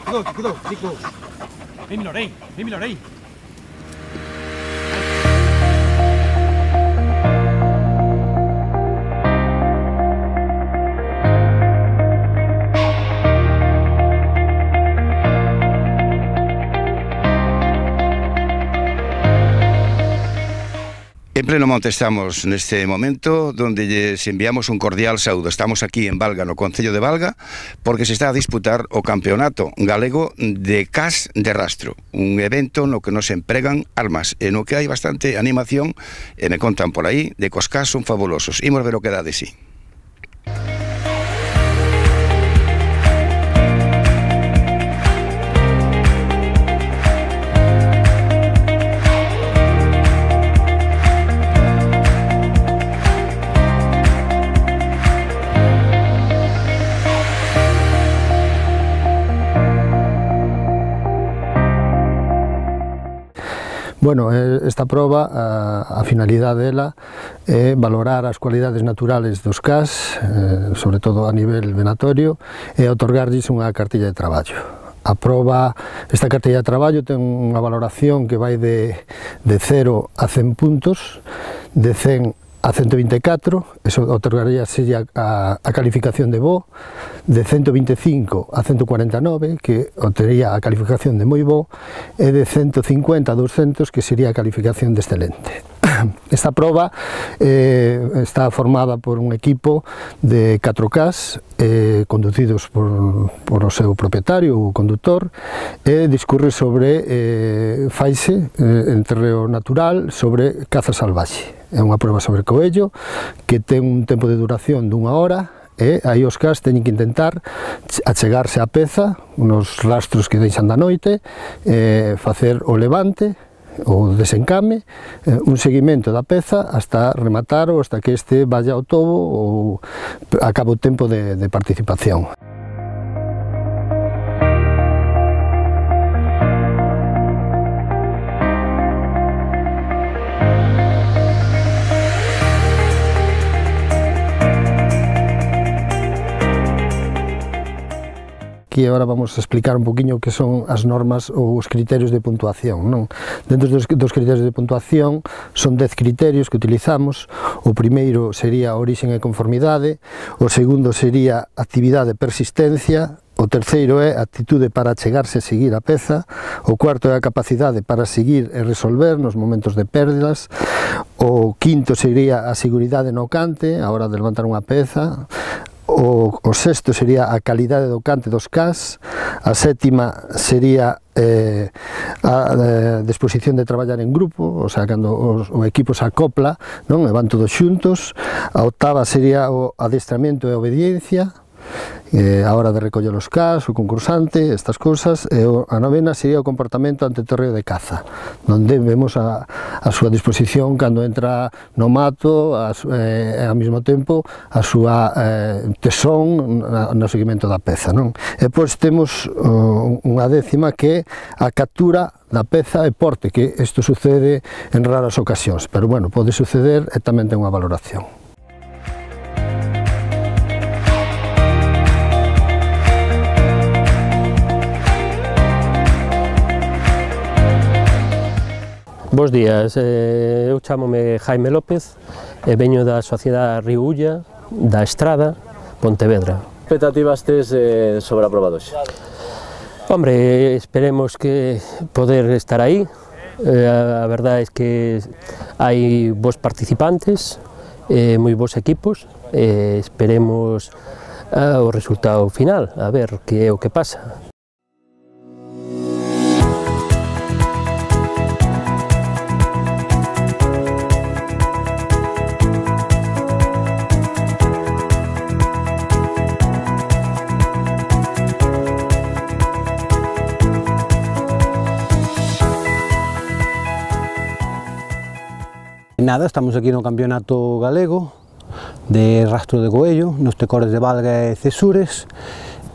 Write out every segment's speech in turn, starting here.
Cuidado, Nico. Ven, Milorey. En pleno monte estamos neste momento donde lles enviamos un cordial saúdo. Estamos aquí en Valga, no concello de Valga, porque se está a disputar o campeonato galego de cas de rastro, un evento no que nos empregan armas, e no que hai bastante animación, e me contan por aí de que os cas son fabulosos. Imos ver o que dá de sí. Bueno, esta proba, a finalidade dela é valorar as cualidades naturales dos cas, sobre todo a nivel venatorio, e otorgarlles unha cartilla de traballo. Esta cartilla de traballo ten unha valoración que vai de 0 a 100 puntos, de 100 a 124, eso otorgaría a calificación de bo, de 125 a 149, que obtería a calificación de moi bo, e de 150 a 200, que sería a calificación de excelente. Esta proba está formada por un equipo de 4 cas, conducidos por o seu propietario, o conductor, e discurre sobre faise en terreo natural sobre caza salvaxe. É unha proba sobre coello que ten un tempo de duración d'1 hora, e aí os cas teñen que intentar achegarse á peza nos rastros que deixan da noite, facer o levante, o desencame, un seguimento da peza hasta rematar ou hasta que este vaya ao tobo ou acabe o tempo de participación. Aquí agora vamos a explicar un poquinho que son as normas ou os criterios de puntuación, non? Dentro dos criterios de puntuación son 10 criterios que utilizamos. O primeiro sería origen e conformidade, o segundo sería actividade e persistencia, o terceiro é actitude para achegarse e seguir a peza, o cuarto é a capacidade para seguir e resolver nos momentos de pérdidas, o quinto sería a seguridade no cante, a hora de levantar unha peza, o sexto sería a calidade do cante dos cas, a sétima sería a disposición de traballar en grupo, o sea, cando o equipo se acopla, non? E van todos xuntos. A octava sería o adestramento e a obediencia, a hora de recoller os cas, o concursante, estas cousas, e a novena sería o comportamento ante o terreo de caza, onde vemos a súa disposición cando entra no mato, e ao mesmo tempo a súa tesón no seguimento da peza, non? E pois temos unha décima que é a captura da peza e porte, que isto sucede en raras ocasións, pero bueno, pode suceder e tamén ten unha valoración. Bos días, eu chámome Jaime López e veño da Sociedade Río Ulla, da Estrada, Pontevedra. Que expectativas tes sobre a proba de hoxe? Hombre, esperemos que poder estar aí. A verdade é que hai bons participantes, moi bons equipos, e esperemos o resultado final, a ver que é o que pasa. Nada, estamos aquí no Campeonato Galego de Rastro de Coello, nos tecores de Valga e Cesures,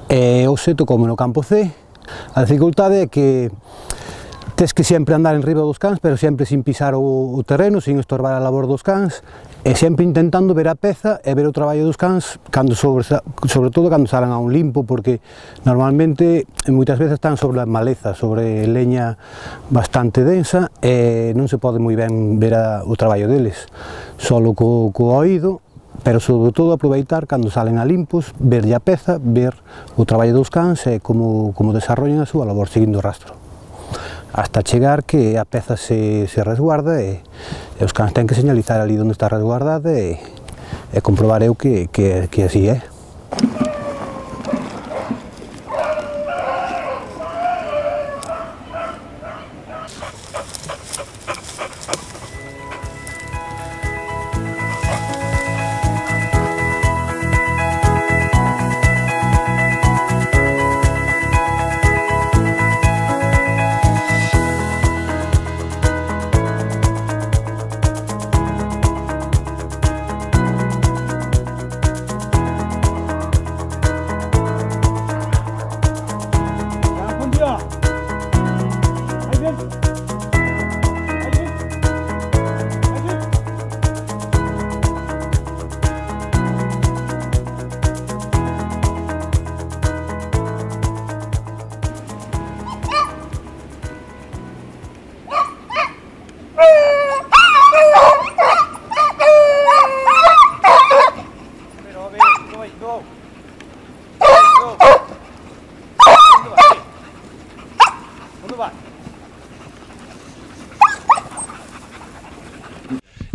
e hoxe tocoume no campo C. A dificultade é que tes que sempre andar en riba dos cans, pero sempre sin pisar o terreno, sin estorbar a labor dos cans, e sempre intentando ver a peza e ver o traballo dos cans, sobre todo cando salen a un limpo, porque normalmente moitas veces están sobre a maleza, sobre leña bastante densa, e non se pode moi ben ver o traballo deles, solo co oído, pero sobre todo aproveitar cando salen a limpos, verlle a peza, ver o traballo dos cans e como desarrollan a súa labor seguindo o rastro, hasta chegar que a peza se resguarda e os cans ten que señalizar ali onde está resguardada e comprobar eu que así é.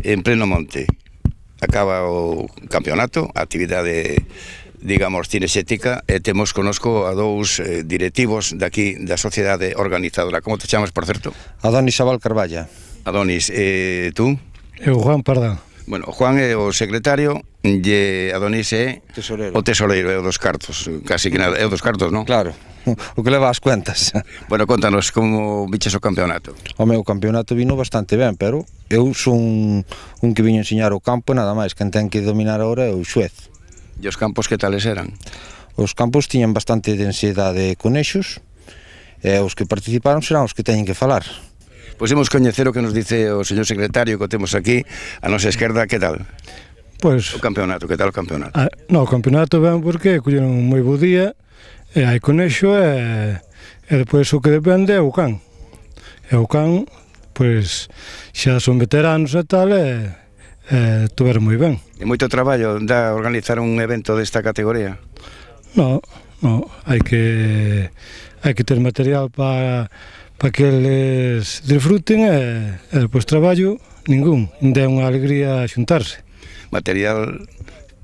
En pleno monte acaba o campeonato, a actividade, digamos, cinexética, e temos conosco a dous directivos daqui da sociedade organizadora. Como te chamas, por certo? Adonis Abal Carballa. Adonis, tú? Eu, Juan Pardán. Bueno, Juan é o secretario e Adonis é o tesoreiro, é o dos cartos, casi que nada, é o dos cartos, non? Claro, o que leva as cuentas. Bueno, contanos como viches o campeonato. O meu campeonato vino bastante ben, pero eu son un que viño enseñar o campo e nada máis, quen ten que dominar agora é o xuez. E os campos que tales eran? Os campos tiñan bastante densidade de conexos e os que participaron serán os que teñen que falar. Pois imos coñecer o que nos dice o señor secretario que o temos aquí, a nosa esquerda, que tal? Pois, O campeonato, que tal o campeonato? no, o campeonato ben porque colleron un moi bo día, e hai conexo, e depois o que depende é o can. E o can, pois, xa son veteranos e tal, e tuveron moi ben. E moito traballo dá organizar un evento desta categoría? No, hai que ter material para que eles disfruten, e depois traballo ningún, ainda é unha alegría xuntarse. Material,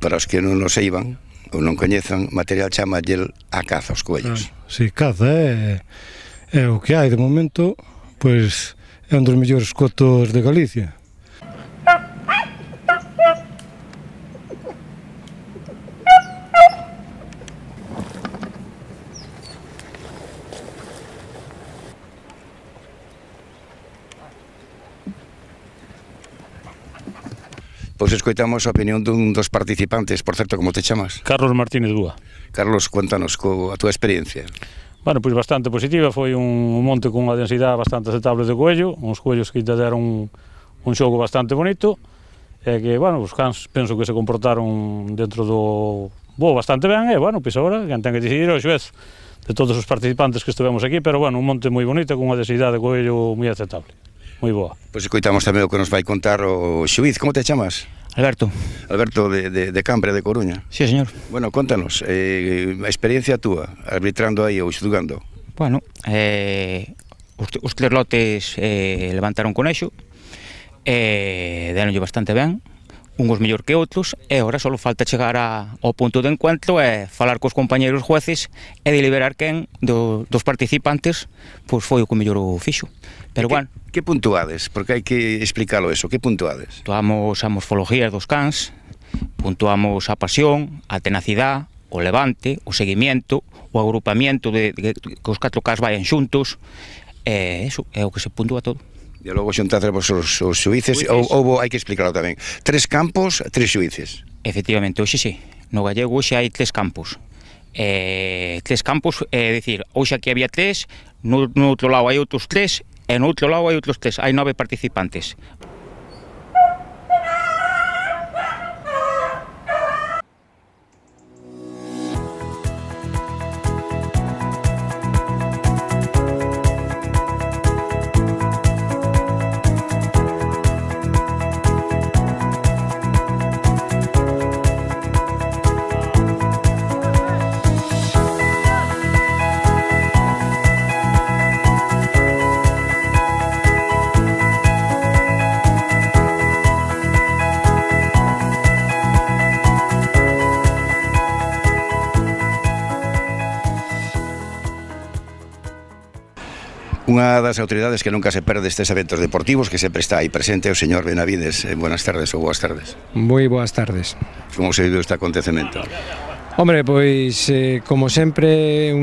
para os que non nos eiban ou non coñezan, material chama a caza, os coellos. Si, caza é o que hai de momento, pois é un dos mellores cotos de Galicia. Pois escoitamos a opinión dun dos participantes. Por certo, como te chamas? Carlos Martínez Búa. Carlos, cuéntanos a túa experiencia. Bueno, pois bastante positiva, foi un monte con unha densidade bastante aceptable de coello, uns coellos que te deron un xogo bastante bonito, e que, bueno, os cans penso que se comportaron dentro do bastante ben, e, bueno, pois agora, quen ten que decidir o xuez de todos os participantes que estivemos aquí, pero, bueno, un monte moi bonito, con unha densidade de coello moi aceptable. Moi boa. Pois escoitamos tamén o que nos vai contar o xuiz. Como te chamas? Alberto. Alberto de Cambre, de Coruña. Sí, señor. Bueno, contanos, a experiencia túa, arbitrando aí ou xudgando. Bueno, os tres lotes levantaron conexo, deronlle bastante ben, uns mellor que outros, e agora só falta chegar ao punto de encuentro e falar cos compañeros jueces e deliberar quen dos participantes pois foi o que mellor o fixo. Pero, bueno, que puntuades? Porque hai que explicarlo eso, que puntuades? Puntuamos a morfología dos cans, puntuamos a pasión, a tenacidade, o levante, o seguimiento, o agrupamiento de que os 4 cans vayan xuntos, eso é o que se puntúa todo. E logo xuntadremos os xuíces, ou hai que explicarlo tamén. 3 campos, 3 xuíces. Efectivamente, hoxe sí. No gallego hoxe hai 3 campos. 3 campos, é dicir, hoxe aquí había 3, no outro lado hai outros 3, e no outro lado hai outros 3, hai 9 participantes. Unha das autoridades que nunca se perde estes eventos deportivos, que sempre está aí presente, o señor Benavides. Buenas tardes ou boas tardes. Moi boas tardes. Como se viu este acontecemento? Hombre, pois, como sempre,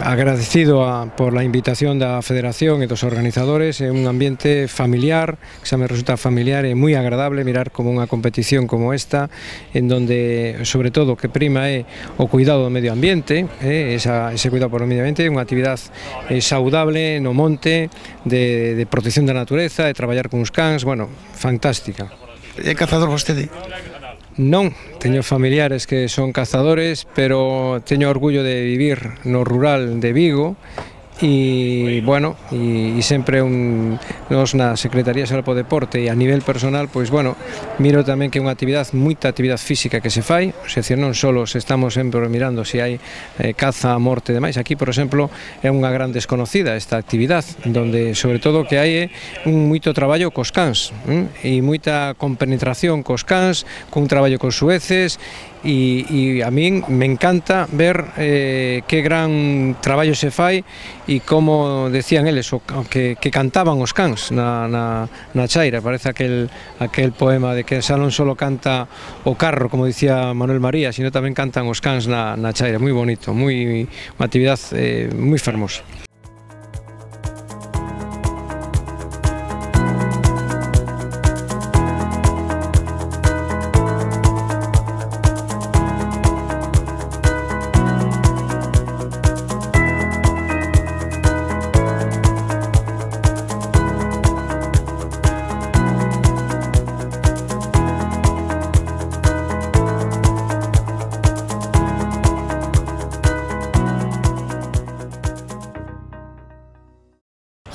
agradecido por la invitación da Federación e dos organizadores. É un ambiente familiar, que xa me resulta familiar e moi agradable mirar como unha competición como esta, en donde, sobre todo, o que prima é o cuidado do medio ambiente, ese cuidado por o medio ambiente, unha actividade saudable no monte, de protección da natureza, de traballar con os cans, bueno, fantástica. É cazador vostede? Non, teño familiares que son cazadores, pero teño orgullo de vivir no rural de Vigo e, bueno, e sempre nos na Secretaría Xeral do Deporte e a nivel personal, pois, bueno, miro tamén que é unha actividade, moita actividade física que se fai, ou seja, non só se estamos sempre mirando se hai caza, morte e demais. Aquí, por exemplo, é unha gran desconocida esta actividade, donde, sobre todo, que hai moito traballo cos cans, e moita compenetración cos cans, cun traballo cos sueces, e a min me encanta ver que gran traballo se fai e como decían eles que cantaban os cans na chaira. Parece aquel poema de que xa non só canta o carro, como dicía Manuel María, sino tamén cantan os cans na chaira. Moi bonito, unha actividade moi fermosa.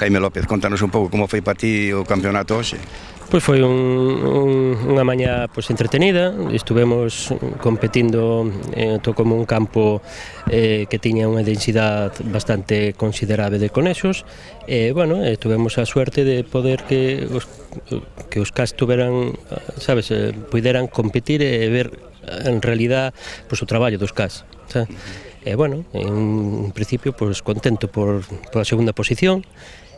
Jaime López, contanos un pouco como foi para ti o campeonato hoxe. Pois foi unha mañá entretenida, estivemos competindo como un campo que tiña unha densidade bastante considerable de conexos e, bueno, tuvemos a suerte de poder que os cans tuveran, sabes, puderan competir e ver en realidad o traballo dos cans, sabes? E, bueno, en principio, contento por a segunda posición.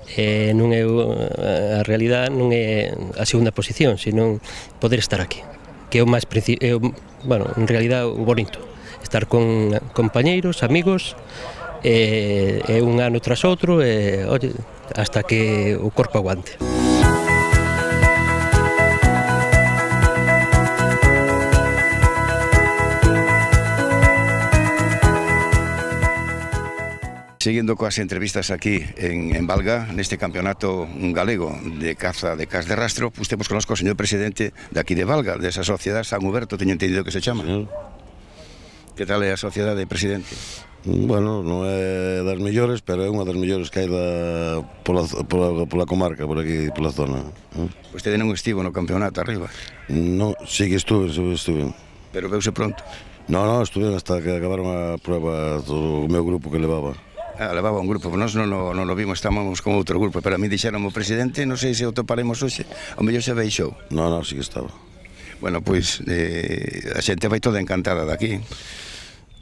Non é a realidade non é a segunda posición, sino poder estar aquí, que é o máis bueno, en realidade o bonito, estar con compañeiros, amigos, un ano tras outro, oye, hasta que o corpo aguante. Seguindo coas entrevistas aquí en Valga, neste campeonato galego de caza de cas de rastro, temos connosco o señor presidente de aquí de Valga, desa sociedade San Huberto, teño entendido que se chama. Que tal é a sociedade, presidente? Bueno, non é das mellores, pero é unha das mellores que hai pola comarca, por aquí, pola zona. Vostede non estivo no campeonato arriba? Non, sí que estuve. Pero veuse pronto? Non, estuve hasta que acabaron a prueba do meu grupo que levaba. Levaba un grupo, nós non o vimos, estábamos con outro grupo, pero a mí dixeron o presidente, non sei se o toparemos hoxe, o mellor se veixou. Non, sí que estaba. Bueno, pois, a xente vai toda encantada daqui.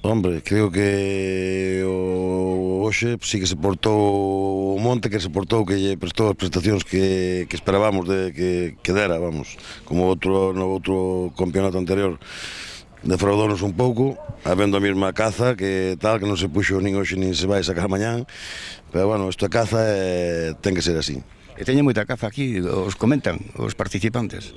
Hombre, creo que hoxe sí que se portou o monte, que se portou, que lle prestou as prestacións que esperábamos que dera, vamos, como no outro campeonato anterior. Defraudounos un pouco, habendo a mesma caza que tal, que non se puxo nin hoxe nin se vai sacar mañán, pero bueno, esta caza ten que ser así. E teñen moita caza aquí, os comentan os participantes?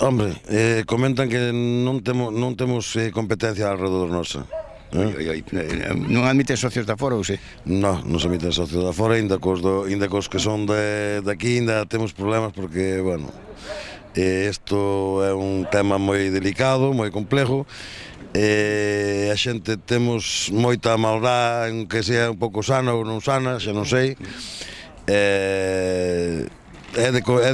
Hombre, comentan que non temos competencia alrededor nosa. Non admiten socios da fora ou se? Non se admiten socios da fora, ainda cos que son de aquí ainda temos problemas porque, bueno, isto é un tema moi delicado, moi complexo, a xente temos moita maldad, que sea un pouco sana ou non sana, xa non sei, é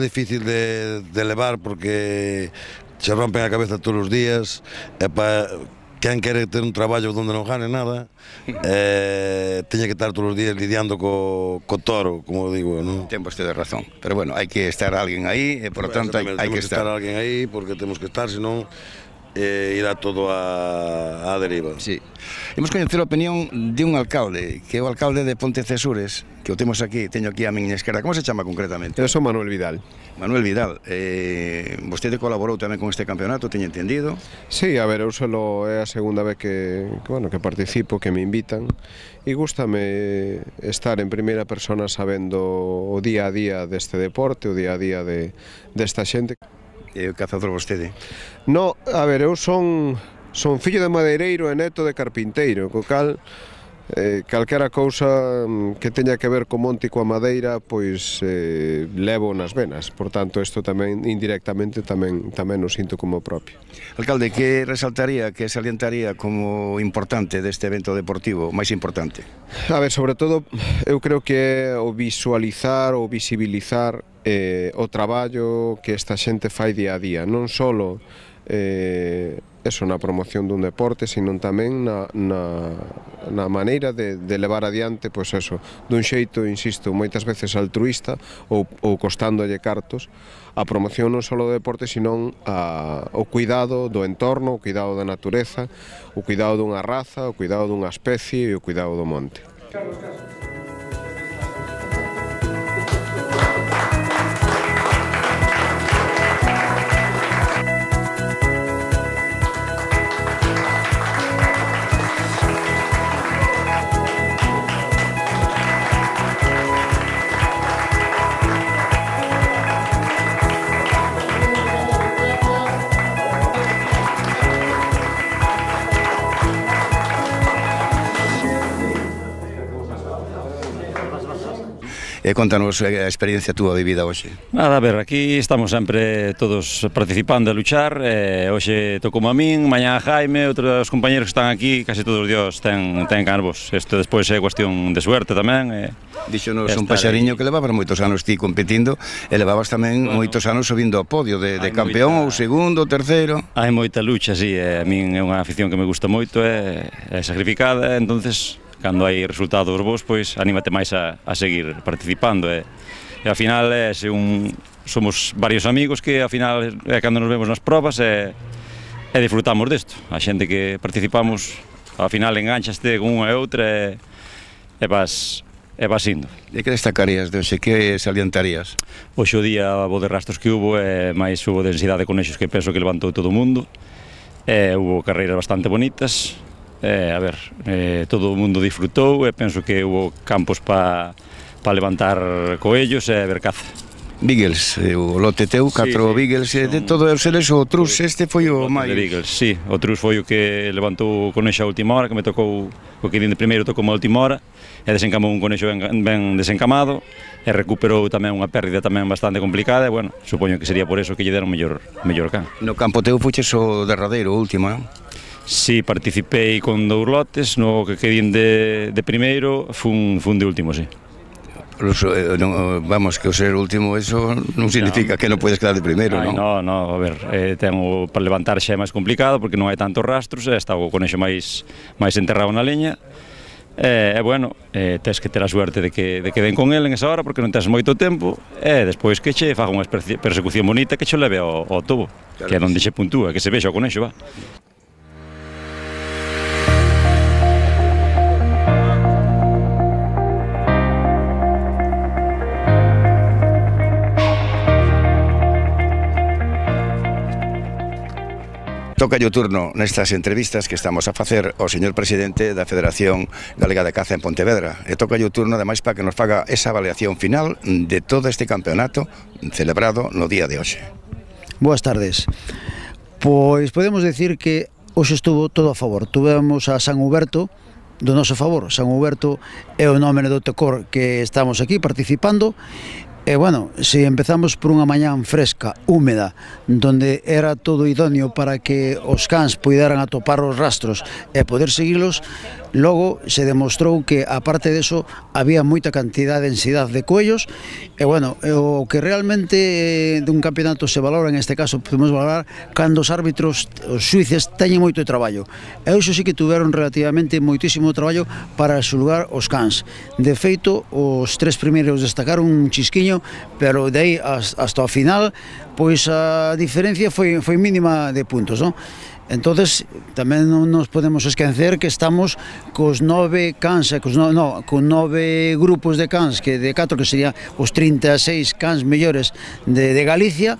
difícil de levar porque se rompen a cabeza todos os días, e para quen quere ter un traballo onde non gane nada, teña que estar todos os días lidiando co toro, como digo, non? Ten vostede razón, pero bueno, hai que estar alguén aí, e por tanto hai que estar alguén aí, porque temos que estar, senón irá todo a deriva. Sí. Imos coñecer a opinión de un alcalde, que é o alcalde de Pontecesures, que o temos aquí, teño aquí a miña esquerda. Como se chama concretamente? Eu son Manuel Vidal. Manuel Vidal, vostede colaborou tamén con este campeonato, teño entendido? Sí, a ver, eu solo é a segunda vez que participo, que me invitan, e gústame estar en primeira persona sabendo o día a día deste deporte, o día a día desta xente. É o cazador vostede? No, a ver, eu son fillo de madeireiro e neto de carpinteiro, co cal calquera cousa que teña que ver co monte e coa madeira, pois levo nas venas. Por tanto, isto tamén indirectamente tamén o sinto como propio. Alcalde, que resaltaría, que salientaría como importante deste evento deportivo, máis importante? A ver, sobre todo, eu creo que é o visualizar, o visibilizar o traballo que esta xente fai día a día, non só eso na promoción dun deporte, sino tamén na maneira de levar adiante, pois eso, dun xeito, insisto, moitas veces altruista ou costándolle cartos, a promoción non só do deporte, sino o cuidado do entorno, o cuidado da natureza, o cuidado dunha raza, o cuidado dunha especie e o cuidado do monte. Contanos a experiencia túa vivida hoxe. Nada, a ver, aquí estamos sempre todos participando a luchar, hoxe tocou a min, mañá a Jaime, outros compañeros que están aquí, casi todos os dios ten cargos. Isto despois é cuestión de suerte tamén. Díxonos un paxariño que levabas moitos anos ti competindo e levabas tamén moitos anos subindo ao podio de campeón ou segundo, terceiro. Hai moita lucha, sí, a min é unha afición que me gusta moito, é sacrificada, entonces cando hai resultados vos, pois anímate máis a seguir participando e ao final somos varios amigos que ao final cando nos vemos nas probas e disfrutamos desto. A xente que participamos ao final enganchaste con unha e outra e vas indo. E que destacarías de hoxe? Que salientarías? Hoxe o día bo de rastros que hubo e máis hubo densidade de conexos que penso que levantou todo o mundo, hubo carreiras bastante bonitas. A ver, todo o mundo disfrutou e penso que hubo campos para levantar coellos e ver caza. Beagles, o lote teu, 4 Beagles, de todo os eles o trus, este foi o máis... Beagles, sí, o trus foi o que levantou o conexo a última hora, que me tocou, o que de primeiro tocou a última hora, e desencamou un conexo ben desencamado, e recuperou tamén unha pérdida tamén bastante complicada, e, bueno, supoño que sería por eso que lle deron mellor can. No campo teu fuches o derradeiro, o último, non? Sí, participei con 2 lotes, no que quedín de primeiro, fun de último, sí. Vamos, que o ser último, eso non significa que non podes quedar de primeiro, non? No, a ver, para levantar xa é máis complicado, porque non hai tantos rastros, está o conexo máis enterrado na leña, e, bueno, tens que ter a suerte de que den con el en esa hora, porque non tens moito tempo, e despois que che faga unha persecución bonita que che leve ao tobo, que é onde xe puntúa, que se vexa o conexo, va. Toca o turno nestas entrevistas que estamos a facer ao señor presidente da Federación Galega de Caza en Pontevedra, e toca o turno ademais para que nos faga esa avaliación final de todo este campeonato celebrado no día de hoxe. Boas tardes. Pois podemos decir que hoxe estuvo todo a favor. Tuvemos a San Huberto do noso favor. San Huberto é o nome do tecor que estamos aquí participando. E, bueno, se empezamos por unha mañán fresca, húmeda, donde era todo idóneo para que os cans puideran atopar os rastros e poder seguilos, logo se demostrou que, aparte deso, había moita cantidad de densidade de coellos, e, bueno, o que realmente dun campeonato se valora, en este caso, podemos valorar cando os árbitros, os xuíces, teñen moito traballo. E iso sí que tuveron relativamente moitísimo traballo para xulgar os cans. De feito, os 3 primeiros destacaron un chisquiño, pero de aí hasta o final, pois a diferencia foi mínima de puntos, non? Entonces, tamén non nos podemos esquecer que estamos cos 9 cans, con 9 grupos de cans, que de 4 que serían os 36 cans mellores de Galicia,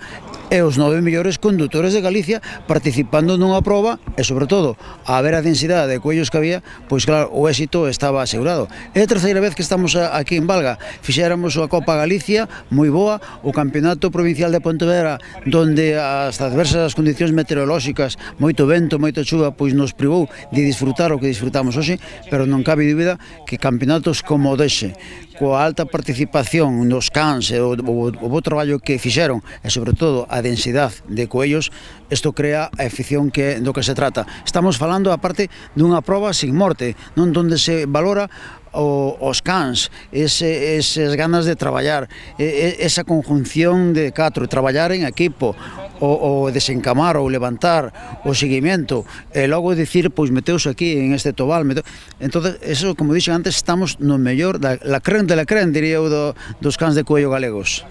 e os 9 mellores condutores de Galicia participando nunha proba e, sobre todo, a ver a densidade de coellos que había, pois claro, o éxito estaba asegurado. É a terceira vez que estamos aquí en Valga. Fixéramos a Copa Galicia, moi boa, o Campeonato Provincial de Pontevedra, donde as adversas condicións meteorolóxicas, moito vento, moita chuva, pois nos privou de disfrutar o que disfrutamos hoxe, pero non cabe dúbida que campeonatos como dese, coa alta participación nos cans e o bo traballo que fixeron, e sobre todo a densidade de coellos, isto crea a afición do que se trata. Estamos falando, aparte, dunha proba sin morte, non donde se valora os cans, esas ganas de traballar, esa conjunción de 4, traballar en equipo, o desencamar ou levantar, o seguimento, e logo dicir, pois meteus aquí en este tobal. Entonces, eso, como dixen antes, estamos no mellor, la creme de la creme, diría eu, dos cans de coello galegos.